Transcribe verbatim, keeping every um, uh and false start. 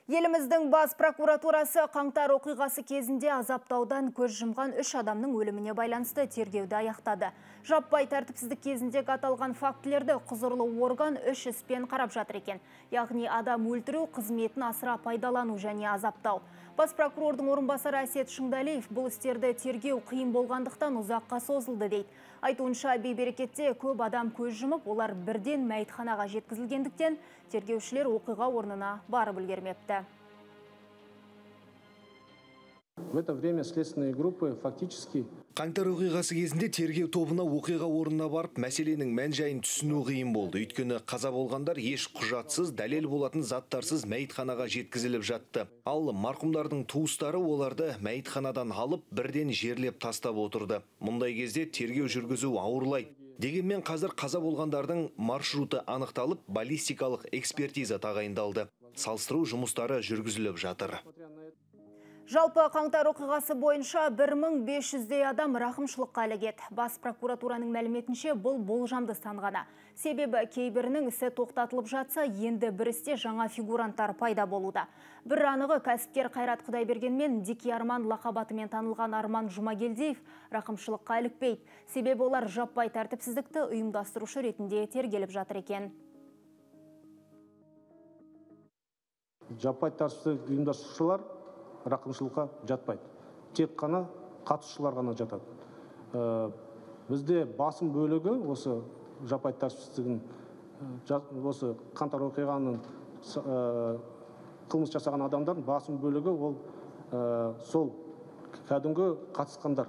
Еліміздің бас прокуратурасы қаңтар оқиғасы кезінде азаптаудан көз жұмған үш адамның өліміне байланысты тергеуді аяқтады. Жаппай тәртіпсіздік кезінде аталған фактілерді құзырлы орган үш іспен қарап жатыр екен. Яғни адам өлтіру, қызметін асыра пайдалану және азаптау. Бас прокурордың орынбасары Әсет Шыңдалиев бұл істерді тергеу қиын болғандықтан ұзаққа созылды дейді. Айтуынша бейберекетте көп адам көз жұмып, олар бірден мәйітханаға жеткізілгендіктен тергеушілер оқиға орнына барып үлгермепті. В это время следственные группы фактически... Қаңтар оқиғасы кезінде тергеу тобына оқиға орнына барып, мәселенің мән-жайын түсіну қиын болды. Өйткені қаза болғандар еш құжатсыз, дәлел болатын заттарсыз мәйітханаға жеткізіліп жатты. Ал марқұмдардың туыстары оларды мәйітханадан алып, бірден жерлеп тастап отырды. Мұндай кезде тергеу жүргізу ауырлайды. Дегенмен қазір қаза болғандардың маршруты анықталып, баллистикалық экспертиза тағайындалды. Салыстыру жұмыстары жүргізіліп жатыр. Жалпы қаңтар оқиғасы бойынша бір мың бес жүздей адам рақымшылыққа ілігеді. Бас прокуратураның мәліметінше бұл болжамды сан ғана. Себебі кейбірінің ісі тоқтатылып жатса, енді бір істе жаңа фигуранттар пайда болуда. Бір анығы кәсіпкер Қайрат Құдайберген мен Дики Арман лақабатымен танылған Арман Жұмагелдиев рақымшылыққа ілікпейді. Себебі олар жаппай тәртіпсіздікті ұйымдастырушы ретінде тергеліп жатыр екен. Жаппай тәртіпсіздік ұйымдастырушылар рақымшылыққа жатпайды. Тек қана қатысушылар ғана жатады. Бізде басым бөлігі осы жаппай тәртіпсіздігін, осы қаңтар оқиғаның қылмыс жасаған адамдардың басым бөлігі ол сол кәдімгі қатысқандар.